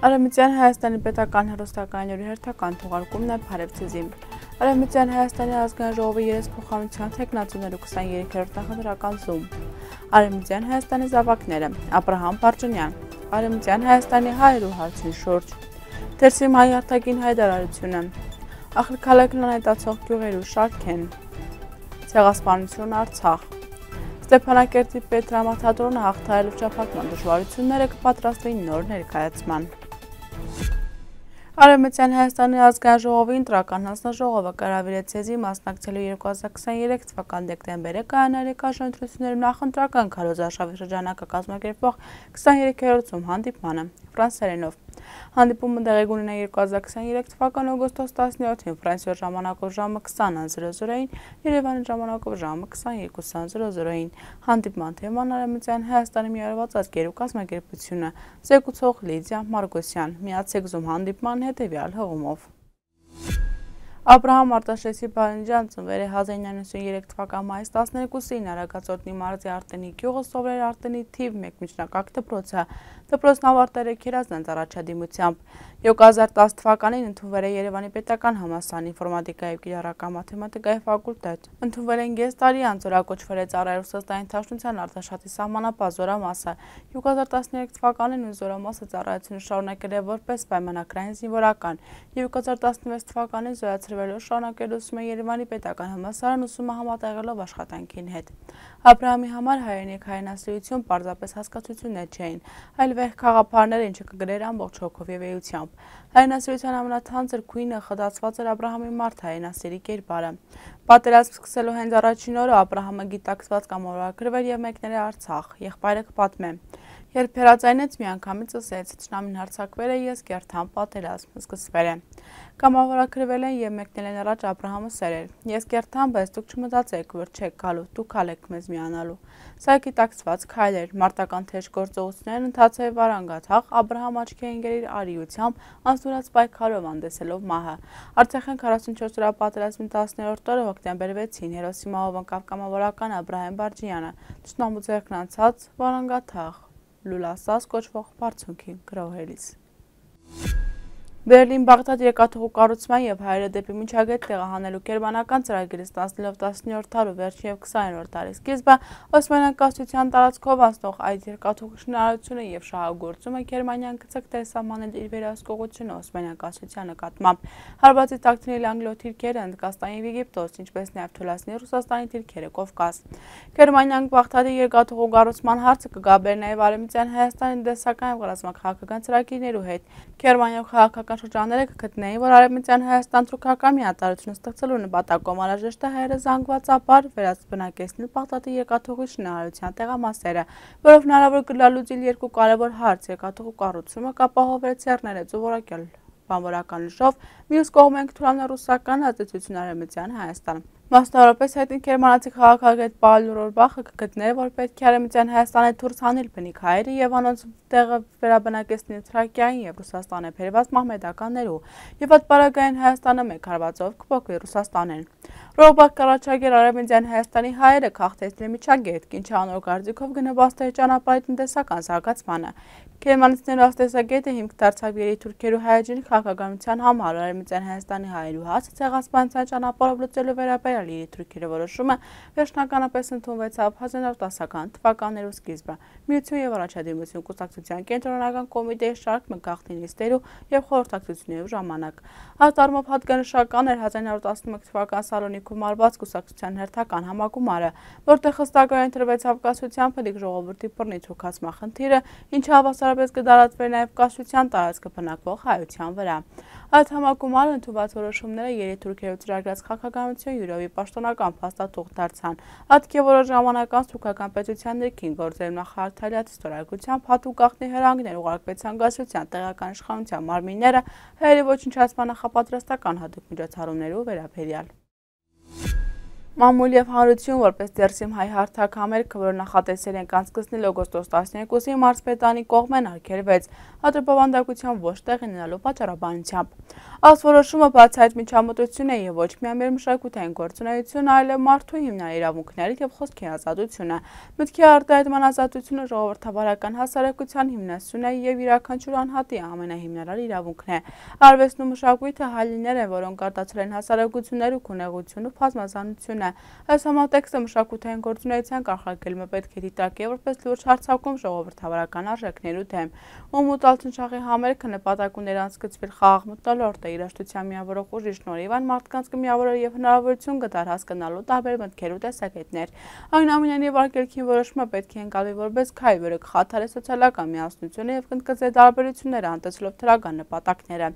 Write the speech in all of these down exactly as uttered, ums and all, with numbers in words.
Արևմտյան Հայաստանի պետական հեռուստակայանների հերթական թողարկումն է Փարեվցեզի։ Արևմտյան Հայաստանի ազգային ժողովի երեսփոխանության թեկնածուներու քսաներեքերորդ նախընտրական զում։ Արևմտյան Հայաստանի զավակները Աբրահամ Պարջանյան, Արևմտյան Հայաստանի հայերու հարցին շուրջ, Դերսիմ հայ արտաքին հայտարարությունը, Ախրքալեքն անհետացող գյուղերու շարքեն, Ցեղասպանություն Արցախ, Ստեփանակերտի պետդրամաթատրոնը հաղթահարելով շփակման դժվարությունները կպատրաստվեն նոր ներկայացման։ Արևմտյան Հայաստանի ազգային ժողովի ընտրական հանձնաժողովը կհրավիրեց ցեզի մասնակցելու երկու հազար քսաներեք թվականի դեկտեմբերի կայանալի կազմակերպությունների նախընտրական քարոզարշավի շրջանակը կազմակերպվող քսաներեքերորդ զում հանդիպմանը ֆրանսերենով։ Հանդիպումը տեղի կունենա երկու հազար քսաներեք թվականի օգոստոս տասնյոթին Ֆրանսիայի ժամանակով ժամը քսան-ին, Երևանի ժամանակով ժամը քսաներկու-ին։ Հանդիպման թեման Արևմտյան Հայաստանի միավորված ազգերու կազմակերպությունը, զեկուցող Լիդիա Մարգոսյան, միացեք զում հանդիպման հետևյալ հղումով։ Աբրահամ Արտաշեսի Բալնջյան ծնվել է հազար իննյակ նույնսուներեք թվականի մայիս տասներկուսին Արագածոտնի մարզի Արտենի գյուղը, սովորել Արտենի թիվ մեկ միջնակարգ դպրոցը։ Դպրոցն ավարտել է Քերազնանց առաջադիմությամբ։ երկու հազար տասը թվականին ընդունվել է Երևանի պետական համալսարանի ինֆորմատիկայի և կիրառական մաթեմատիկայի ֆակուլտետ։ Ընդունվել են կես տարի անց զորակոչվել է ծառայել Ռուսաստանի Դաշնության Արտաշատի սահմանապահ զորամասը։ երկու հազար տասներեք թվականին նույն զորամասը ծառայությունը շարունակել է որպես պայմանագրային զինվորական։ երկու հազար տասնվեց թվականին զորացրվելով շարունակել ուսումը Երևանի պետական համալսարան ուսումը համատեղելով աշխատանքին հետ։ Աբրահամի համար հայրենիք հայրենասիրություն պարզապես հասկացություններ չէին, այլ վեհ խաղափարներ, ինչը կգրեր ամբողջ հոգով և էությամբ։ Հայրենասիրության ամենաթանձր քույնը խտացված էր Աբրահամի մարդ հայրենասիրի կերպարը։ Պատերազմ սկսելու հենց առաջին օրը Աբրահամը գիտակցված կամավորագրվել և մեկնել է Արցախ, եղբայրը կպատմե։ Երբ հեռացայնեց, միանգամից ասեց, թշնամին հարձակվել է, ես կերտամ, պատերազմ սկսվել է։ Կամավորագրվել են և մեկնել են առաջ Աբրահամը սերեր։ Ես կերտամ, բայց դուք չմտածեք, որ չեք գալու, դուք ալ եք մեզ միանալու։ Սա գիտակցված քայլ էր, մարտական թեժ գործողություններն ընթացել վարանգաթաղ, Աբրահամ աչքի է ընկել իր արիությամբ, անձնուրաց պայքարով հանդեսելով մահը։ Արցախյան քառասունչորս օրյա պատերազմի տասներորդ օրը հոկտեմբեր վեցին հերոսի մահով ընկավ կամավորական Աբրահամ Պարջանյանը, թշնամու ձեռքն անցած վարանգաթաղ լուլասաս կոչվող բարձունքին գրոհելիս։ Բերլին-Բաղդադ երկաթուղու կառուցման և հայերը դեպի միջագետ տեղահանելու գերմանական ծրագիրը ստանձնելով տասնյորդ դարու վերջին և քսաներորդ դարի սկիզբը, Օսմանյան կայսրության տարածքով անցնող այդ երկաթուղու շինարարությունը և շահագործումը Գերմանիան գծկտել սահմանել իր վերահսկողությունը Օսմանյան կայսրության նկատմամբ, հարվածի թաքցնել անգլիոթուրքերը Հնդկաստան և Եգիպտոս, ինչպես նաև թուլացնել Ռուսաստանի թուրքերը Կովկաս։ Գերմանիան Բաղդադի երկաթուղու կառուցման հարցը կգաբեր նաև Արևմտյան Հայաստանի տնտեսական և ռազմաքաղաքական ծրագրերու հետ։ Գերմանիայում քաղաքական շրջանները կգտնեին, որ Արևմտյան Հայաստան թուրքական միատարրություն ստեղծելու նպատակով անհրաժեշտ է հայերը զանգվածաբար վերաբնակեցնել Բաղդադի երկաթուղի շինարարության տեղամասերը, որով հնարավոր կլալուծիլ երկու կարևոր հարց՝ երկաթուղու կառուցումը կապահովեր ցեղներեց ու որակյալ բանվորական ուժով, մյուս կողմեն կթուլանա ռուսական ազդեցությունը Արևմտյան Հայաստան։ Մասնավորապես հայտնի գերմանացի քաղաքագետ Պաուլ Ռորբախը կգտներ, որ պետք է Արևմտյան Հայաստանի դուրս հանել բնիկ հայերը և անոնց տեղը վերաբնակեցնել Թրակիային և Ռուսաստանը բերված մահմեդականներու, և այդ պարագային Հայաստանը մեկ հարվածով կփոխվի Ռուսաստանեն։ Ռորբախ կառաջարկեր Արևմտյան Հայաստանի հայերը քաղաքացիների միջագետ, ինչը անոր կարծիքով կնպաստեր ճանապարհի տնտեսական զարգացմանը։ Գերմանացիներու աստեսագետը հիմք դարձավ երիտուրքերու հայաջին քաղաքականության համար Արևմտյան Հայաստանի հայերու հաս ցեղասպանության ճանապարհով լուծելու վերաբերյալ երիտուրքերը որոշումը վերջնականապես ընդունվեցավ հազար իննյակ հարյուր տասական թվականներու սկիզբը։ Միություն և առաջադիմություն կուսակցության կենտրոնական կոմիտեի շարք գաղտնի նիստերու և խորհրդակցություններու ժամանակ։ Այդ առումով հատկանշական էր հազար իննյակ հարյուր տասնմեկ թվականի Սալոնիկում արված կուսակցության հերթական համագումարը, որտեղ խստակային տրվեցավ կայսրության փլիկ ժողովրդի բռնի թուրքացման խնդիրը, ինչը հավասարապես կդարածվեր նաև կայսրության տարածքը բնակվող հայության վրա։ Այդ համագումարը ընդունված որոշումները երիտուրքերու ծրագրած քաղաքականության յուրովի պաշտոնական փաստաթուղթ դարձան։ Ատքի որոշ ժամանակ անց թուրքական պետության ներքին գործերու նախարար Թալիաթի ստորագրությամբ հատուկ գաղտնի հրահանգներ ուղարկվեցան կայսրության տեղական իշխանության մարմինները հայերի ոչնչացման նախապատրաստական հատուկ միջոցառումներու վերաբերյալ։ Մամուլ և հանրություն որպես Դերսիմ հայ հարթակ համերգը, որը նախատեսել են կանցկացնել օգոստոս տասներկուսին մարզպետանի կողմեն արգելվեց, ատրպավանդակության ոչ տեղի ունենալու պատճառաբանությամբ։ Այս որոշումը բացահայտ միջամտություն է եւ ոչ միայն մեր մշակութային գործունեությունը, այլև մարդու հիմնարար իրավունքները եւ խոսքի ազատությունը։ Մտքի արտահայտման ազատությունը ժողովրդավարական հասարակության հիմնասյուն է եւ յուրաքանչյուր անհատի ամենահիմնարար իրավունքն է։ Արվեստն ու մշակույթը հալիներ են, որոնք արտացել են հասարակություններ ու քունեղություն ու բազմազանությունը։ Այս համատեքստը մշակութային գործունեության կանխարգելումը պետք է դիտարկի որպես լուրջ հարձակում ժողովրդավարական արժեքներու դեմ։ Ում ու տալցնչախի համերգը նպատակ ուներ անցկացվել խաղաղ մթնոլորտ երաշտության միավորող ուժի շնորհիվ այն մարդկանց կմիավորեր եւ հնարավորություն կտար հասկանալու տարբեր մտքեր ու տեսակետներ։ Այնուամենայնիվ արգելքին որոշումը պետք է ընկալվի որպես քայլ, որը կխաթարի սոցիալական միասնությունը եւ կընդգծի տարբերությունները, անտեսելով դրական նպատակները։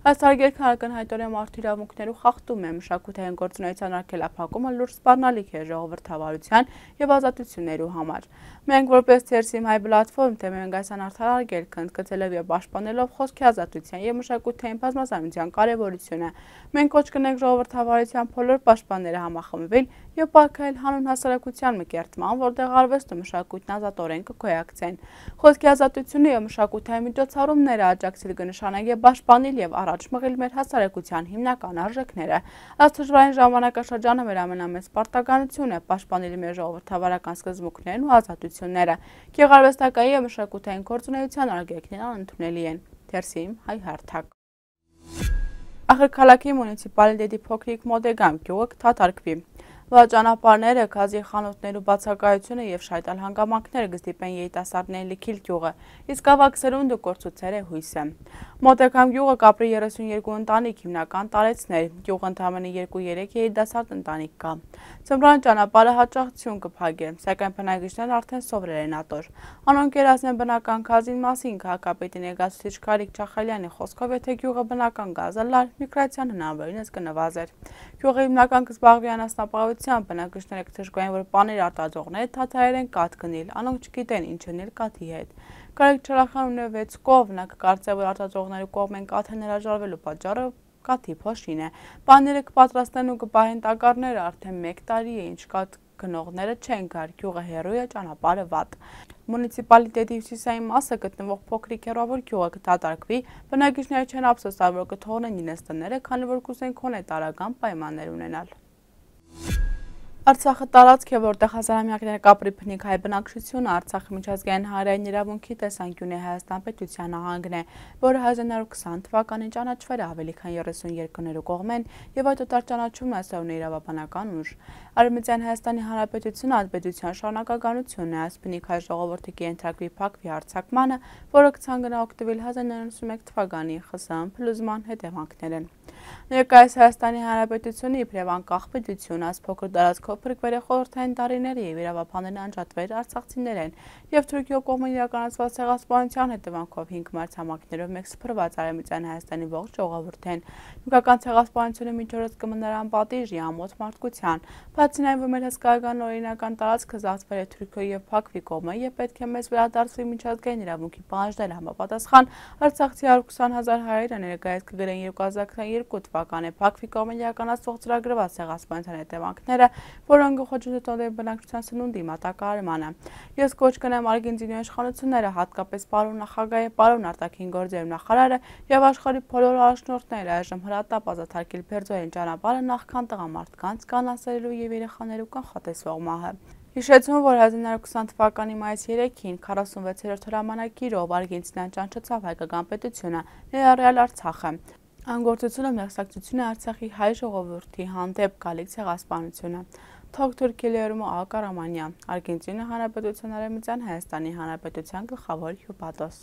Այս արգելքը ակնհայտորեն մարդու իրավունքներու խախտում է, մշակութային գործունեության արգելափակումը լուրջ սպառնալիք է ժողովրդավարության եւ ազատություններու համար։ Մենք որպես Թերսիմ հայ պլատֆորմ թեմում ենք այս անարդար արգելքը, ընդգծելով եւ պաշտպանելով խոսքի ազատության եւ մշակութային բազմազանության կարեւորությունը։ Մենք կոչ կնենք ժողովրդավարության բոլոր պաշտպանները համախմբվել եւ պարգևել հանուն հասարակության մկերտման, որտեղ արվեստը մշակույթն ազատորեն կգոյակցեն։ Խոսքի ազատությունը եւ մշակութային միջոցառումները աջակցել կնշանակի պաշտպանել եւ առաջ մղել մեր հասարակության հիմնական արժեքները։ Այս դժվարին ժամանակաշրջանը մեր ամենամեծ պարտականությունը է պաշտպանել մեր ժողովրդավարական սկզբունքներն ու ազատությունները։ Գեղարվեստական եւ մշակութային գործունեության արգելքներն անընդունելի են։ Թերսիմ հայ հարթակ։ Ախրքալաքի մունիցիպալիտետի փոքրիկ Մոդեգամ գյուղը կդատարկվի։ Ճանապարհները, գազի խանութներու բացակայությունը եւ շայտալ հանգամանքները կստիպեն երիտասարդներին լքել գյուղը, իսկ ավագ սերունդը կորցուցել է հույսը։ Մոդեգամ գյուղը կապրի երեսունյոթ ընտանիք, հիմնական տարեցներ, գյուղը ընդամենը երկու-երեք երիտասարդ ընտանիք կա։ Ձմռան ճանապարհը հաճախություն կփակի, սակայն բնակիչներն արդեն սովորել են ատոր։ Անոնք երազն են բնական գազին մասին քաղաքապետի ներկայացուցիչ Գարիկ Չախալյանի խոսքով, եթե գյուղը բնական գազը լար, միգրացիան հնարավորինս կնվազեր։ Գյուղը հիմնական կզբաղվի անասնապահությամբ, բնակիչները կթշկային, որ պաներ արտադրողները դադարել են կաթ գնել, անոնք չգիտեն ինչ անել կաթի հետ։ Գարիկ Չախալյանը ունի վեց կով, նա կկարծե, որ արտադրողների կողմեն կաթը հրաժարվելու պատճառը կաթի փոշին է։ Պաները կպատրաստեն ու կպահեն տակառները, արդեն մեկ տարի է, ինչ կաթ գնողները չեն գար, գյուղը հեռու է, ճանապարհը վատ։ Մունիցիպալիտետի հյուսիսային մասը գտնվող փոքրիկ հեռավոր գյուղը կդատարկվի, բնակիչները չեն ափսոսալ, որ կթողնեն իրենց տները, քանի որ կուզեն քոնե տարական պայմաններ ունենալ։ Արցախը տարածք է, որտեղ հազարամյակներ կապրի բնիկ հայ բնակչությունը, Արցախի միջազգային հանրային իրավունքի տեսանկյունի Հայաստան պետության նահանգն է, որը հազար նոր քսան թվականին ճանաչվել է ավելի քան երեսուն երկրներու կողմեն եւ այդ օտար ճանաչումն այսօր ունի իրավաբանական ուժ։ Արևմտյան Հայաստանի Հանրապետությունը ազգայնության շարունակականությունն է, այս բնիկ հայ ժողովրդի կենտրակվի փակվի հարձակմանը, որը կցանկանա օգտվել հազար նորը ութսուն մեկ թվականի ԽՍՀՄ փլուզման հետևանքներն։ Ներկայիս Հայաստանի Հանրապետությունը իբրև անկախ պետություն, այս փոքր տարածքով փրկվել է խորհրդային տարիների եւ իրավաբաններն անջատվել արցախցիներեն եւ Թուրքիո կողմը իրականացված ցեղասպանության հետևանքով հինգ մարտհամակներով մեկ սփռված Արևմտյան Հայաստանի ողջ ժողովուրդեն։ Նույնական ցեղասպանությունը միջորոց կմնար անպատիժ ամոթ մարդկության։ Բացի այն, որ մեր հսկայական օրինական տարածքը զավթվել է Թուրքիո եւ Փակվի կողմը եւ պետք է մեզ վերադարձվի միջազգային իրավունքի պահանջները համապատասխան, արցախցի հարյուր քսան հազար հայերը ներկայիս կգրեն երկու հազար քսաներկու թվականի Փակվի կողմը իրականացվող ծրագրված ցեղասպանության հետևանքները, որոնք խոչընդոտել են բնակչության սնունդի մատակարարմանը։ Ես կոչ կնեմ Արգենտինայի իշխանությունները, հատկապես պարոն նախագահը, պարոն արտաքին գործերի նախարարը եւ աշխարհի բոլոր առաջնորդները այժմ հրատապ ազատարկել Բերձորեն ճանապարհը նախքան տղամարդկանց կանասերելու եւ երեխաներու կանխատեսվող մահը։ Հիշեցում, որ հազար նորը քսան թվականի մայիսի երեքին քառասունվեցերորդ հրամանագիրով Արգենտինան ճանաչեցավ հայկական պետությունը, ներառյալ Արցախը։ Անգործությունը մեղսակցություն է Արցախի հայ ժողովրդի հանդեպ գալիք ցեղասպանությունը։ Թող Թուրքիայում Ա Կարամանյան, Արգենտինա Հանրապետության Արևմտյան Հայաստանի Հանրապետության գլխավոր հյուպատոս։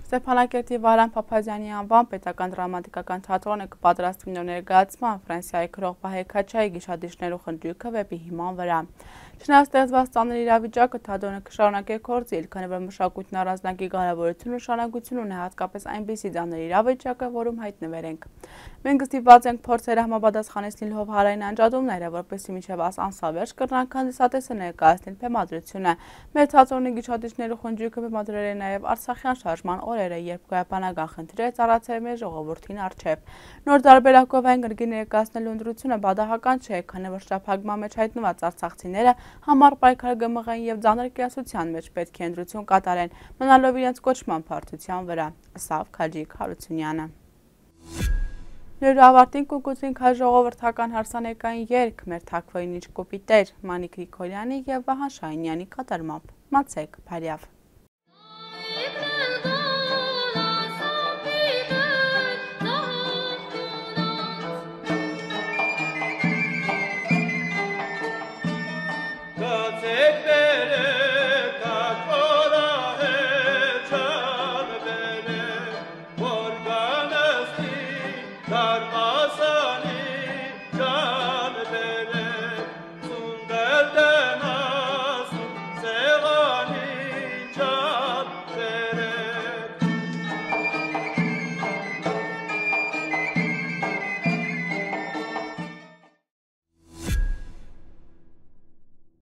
Ստեփանակերտի Վարան Փափազյանի անվան պետական դրամատիկական թատրոնը կպատրաստվի նոր ներկայացման Ֆրանսիայի գրող Վահե Քաչայի գիշադիչներու խնջույքը վեպի հիման վրա։ Չնայած ստեղծված ծանր իրավիճակը թատրոնը կշարունակի գործել, քանի որ մշակույթն առանձնակի կարևորություն ու նշանակություն ունի հատկապես այնպիսի ծանր իրավիճակը, որում հայտնվել ենք։ Մենք ստիպված ենք փորձել համապատասխանել հովհարային անջատումները, որպեսզի մինչև անսավերջ կրնանք հանդիսատեսը ներկայացնել բեմադրությունը։ Մեր թատրոնի գիշադիչներու խնջույքը բեմադրել է նաև Արցախյան շարժման օրերը, երբ գոյաբանական խնդիրը ծառացել մեր ժողովրդին առջև։ Նոր տարբերակով այն գրքի ներկայացնելու ընտրությունը բադահական չէ, քանի որ շրջափակման մեջ հայտնված արցախցիները համառ պայքար կմղեն եւ ծանր կայացության մեջ պետք է ընտրություն կատարեն, մնալով իրենց կոչման փարթության վրա, ըստ Քաջիկ Հարությունյանը։ Լուրը ավարտին կուկուցին քայ ժողովրդական հարսանեկային երգ մեր թաքվոյին ինչ կոպիտեր Մանիկ Գրիգորյանի և Վահան Շահինյանի կատարմամբ։ Մացեք, Փարյավ։